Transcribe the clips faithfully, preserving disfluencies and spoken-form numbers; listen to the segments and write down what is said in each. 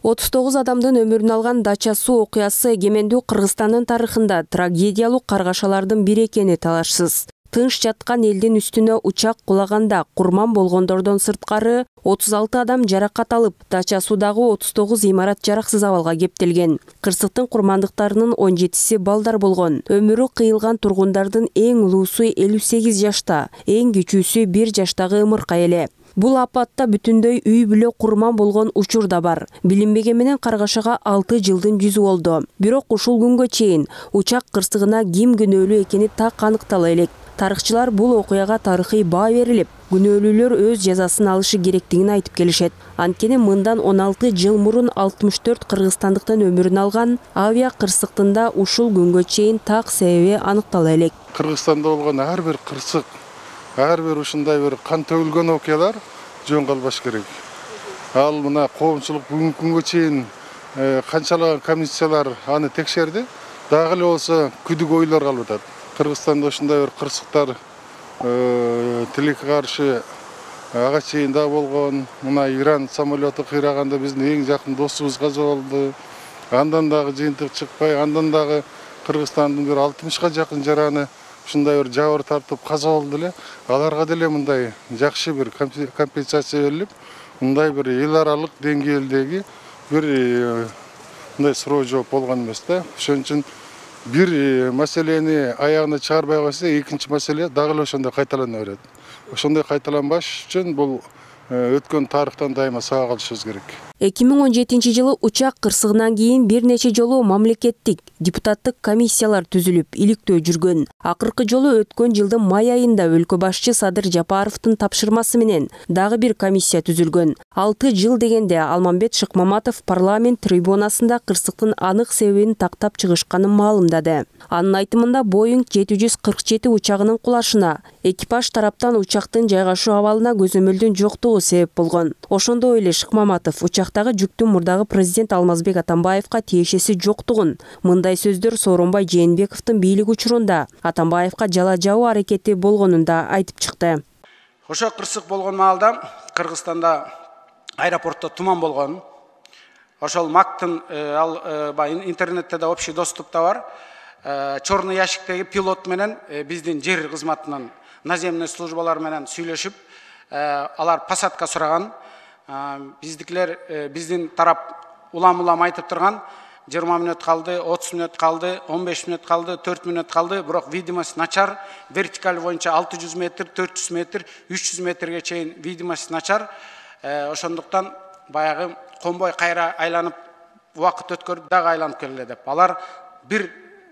отуз тогуз адамдын өмүрүн алган Дача суу окуясы эгемендүү Кыргызстандын тарыхында трагедиялуу каргашалардын бири экени талашсыз. Тынч жаткан элдин үстүнө учак кулаганда курман болгондордон сырткары отуз алты адам жаракат алып, Дача суудагы отуз тогуз имарат жараксыз абалга кептелген. Кырсыктын курмандыктарынын он жетиси балдар болгон. Өмүрү кыйылган тургундардын эң улуусу элүү сегиз жашта, эң кичүүсү бир жаштагы ымыркай эле. Бул апатта бүтүндөй үй бүлө курман болгон учур да бар. Билинбеген менен каргашага алты жылдын жүзү болду. Бирок ушул күнгө чейин учак кырсыгына ким күнөөлүү экени так аныктала элек. Тарыхчылар бул окуяга тарыхый баа берилип, күнөөлүүлөр өз жазасын алышы керектигин айтып келишет. Анткени мындан он алты жыл мурун алтымыш төрт кыргызстандыктын өмүрүн алган авиа кырсыктында ушул күнгө чейин так себеби аныктала элек. Кыргызстанда болгон ар бир кырсык, ар бир ушундай бир кан төгүлгөн окуялар жөн калбаш керек. Ал мына коомчулук бүгүнкү күнгө чейин канчалаган комиссиялар аны текшерди, дагы эле болсо күдүк ойлор калып атат. Кыргызстанда ушундай бир кырсыктар тилекке каршы ага чейин да болгон. Мына Иран самолету кыйраганда биздин эң жакын досубуз каза болду. Андан дагы жыйынтык чыкпай, андан дагы Кыргызстандын бир алтымышка жакын жараны ушундай бир жабыр тартып каза болду эле. Аларга деле мындай жакшы бир компенсация берилип, мындай бир эл аралык деңгээлдеги бир мындай суроо жооп болгон эмес да. Ошон үчүн бир маселени аягына чыгарбай койсо, экинчи маселе дагы эле ошондой кайталана берет. Ошондой кайталанбаш үчүн бул өткөн тарыхтан дайыма сабак алышыбыз керек. эки миң он жетинчи жылы учак кырсыгынан кийин бир нече жолу мамлекеттик депутаттык комиссиялар түзүлүп, иликтөө жүргөн. Акыркы жолу өткөн жылдын май айында өлкө башчы Садыр Жапаровдун тапшырмасы менен дагы бир комиссия түзүлгөн. алты жыл дегенде Алмамбет Шыкмаматов парламент трибунасында кырсыктын анык себебин тактап чыгышканын маалымдады. Анын айтымында Боинг жети жүз кырк жети учагынын кулашына экипаж тараптан учактын жайгашуу абалына көзөмөлдүн жоктугу себеп болгон. Ошондой эле Шыкмаматов учактагы жүктүн мурдагы президент Алмазбек Атамбаевка тиешеси жоктугун, мындай сөздөр Сооронбай Жээнбековдун бийлик учурунда Атамбаевка жала жабуу аракети болгонун да айтып чыкты. Ошо кырсык болгон маалда Кыргызстанда аэропортто туман болгон. Ошол мактын ал интернетте да общий доступта бар. Чорный ящиктеги пилот менен биздин жер кызматынын наземный службалар менен сүйлөшүп, алар посадка сураган. Биздикилер биздин тарап улам-улам айтып турган, жыйырма мүнөт калды, отуз мүнөт калды, он беш мүнөт калды, төрт мүнөт калды, бирок видимость начар, вертикаль боюнча алты жүз метр, төрт жүз метр, үч жүз метрге чейин видимость начар. Ошондуктан баягы комбой кайра айланып убакыт өткөрүп дагы айланып келеле деп. Алар бир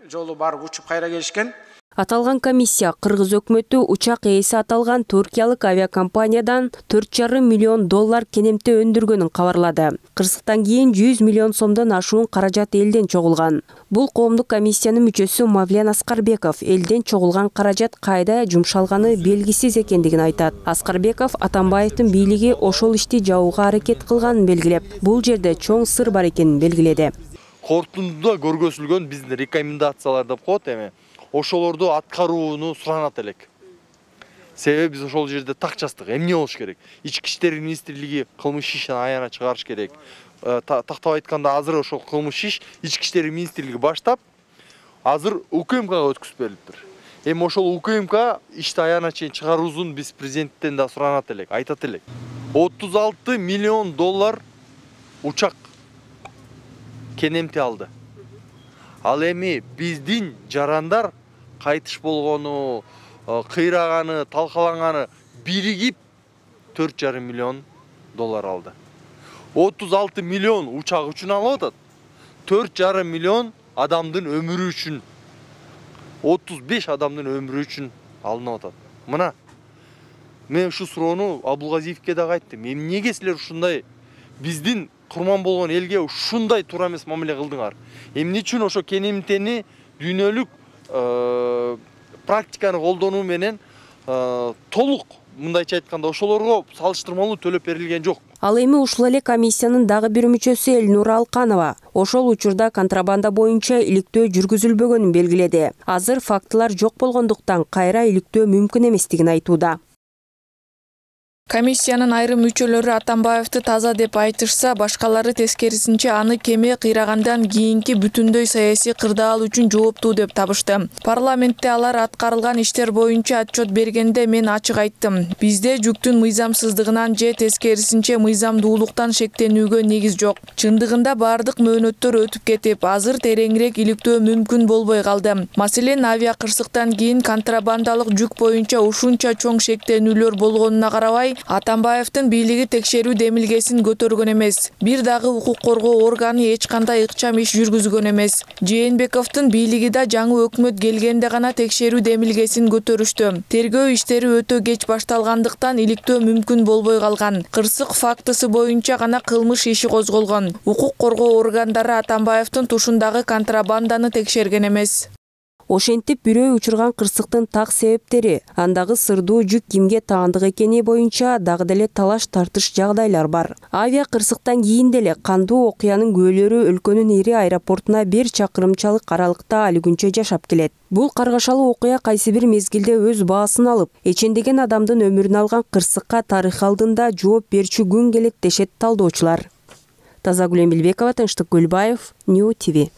жолу барып учуп кайра келишкен. Аталган комиссия Кыргыз өкмөтү учак ээси аталган туркиялык авиакомпаниядан төрт жарым миллион доллар кенемте өндүргөнүн кабарлады. Кырсыктан кийин жүз миллион сомдон ашуун каражат элден чогулган. Бул коомдук комиссиянын мүчөсү Мавлен Аскарбеков элден чогулган каражат кайда жумшалганы белгисиз экендигин айтат. Аскарбеков Атамбаевдин бийлиги ошол ишти жабууга аракет кылганын белгилеп, бул жерде чоң сыр бар экенин белгиледи. Корутундуда көргөзүлгөн биздин рекомендациялар деп коет эми. Ошолорду аткарууну суранат элек. Себеби биз ошол жерде так жаздык. Эмне болуш керек? Ички иштер министрлиги кылмыш ишин аягына чыгарыш керек. Тактап айтканда азыр ошол кылмыш иш ички иштер министрлиги баштап, азыр УКМКга өткүзүп берилиптир. Эми ошол УКМК ишти аягына чейин чыгаруусун биз президенттен да суранат элек, айтат элек. отуз алты миллион доллар учак кенемти алды. Ал эми биздин жарандар кайтыш болгону, кыйраганы, талкаланганы биригип төрт жарым миллион доллар алды. отуз алты миллион учак үчүн алып атат. төрт жарым миллион адамдын өмүрү үчүн, отуз беш адамдын өмүрү үчүн алынып атат. Мына мен ушу суроону Абулгазиевке да айттым. Эмнеге силер ушундай биздин курман болгон элге ушундай туура эмес мамиле кылдыңар? Эмне үчүн ошо кенемтени дүйнөлүк практиканы колдонуу менен толук, мындайча айтканда, ошолорго салыштырмалуу төлөп берилген жок? Ал эми ушул эле комиссиянын дагы бир мүчөсү Элнура Алканова ошол учурда контрабанда боюнча иликтөө жүргүзүлбөгөнүн белгиледи. Азыр фактылар жок болгондуктан кайра иликтөө мүмкүн эместигин айтууда. Комиссиянын айрым мүчөлөрү Атамбаевди таза деп айтышса, башкалары тескерисинче аны кеме кыйрагандан кийинки бүтүндөй саясий кырдаал үчүн жооптуу деп табышты. Парламентте алар аткарылган иштер боюнча отчет бергенде мен ачык айттым. Бизде жүктүн мыйзамсыздыгынан же тескерисинче мыйзамдуулуктан шектенүүгө негиз жок. Чындыгында бардык мөөнөттөр өтүп кетип, азыр тереңирээк иликтөө мүмкүн болбой калды. Маселен, авиа кырсыктан кийин контрабандалык жүк боюнча ушунча чоң шектенүүлөр болгонуна карабай, Атамбаевдин бийлиги текшерүү демилгесин көтөргөн эмес. Бир дагы укук коргоо органы эч кандай ыкчам иш жүргүзгөн эмес. Жээнбековдун бийлиги да жаңы өкмөт келгенде гана текшерүү демилгесин көтөрүштү. Тергөө иштери өтө кеч башталгандыктан иликтөө мүмкүн болбой калган. Кырсык фактысы боюнча гана кылмыш иши козголгон. Укук коргоо органдары Атамбаевдин тушундагы контрабанданы текшерген эмес. Ошентип бирөө учурган кырсыктын так себептери, андагы сырдуу жүк кимге таандык экени боюнча дагы деле талаш тартыш жагдайлар бар. Авиа кырсыктан кийин деле кандуу окуянын күбөлөрү өлкөнүн ири аэропортуна бир чакырымчалык аралыкта али күнчө жашап келет. Бул каргашалуу окуя кайсы бир мезгилде өз баасын алып, эчендеген адамдын өмүрүн алган кырсыкка тарых алдында жооп берчү күн келет дешет талдоочулар. Тазагүл Эмилбекова, Тынчтык Гүлбаев, Нью ти ви.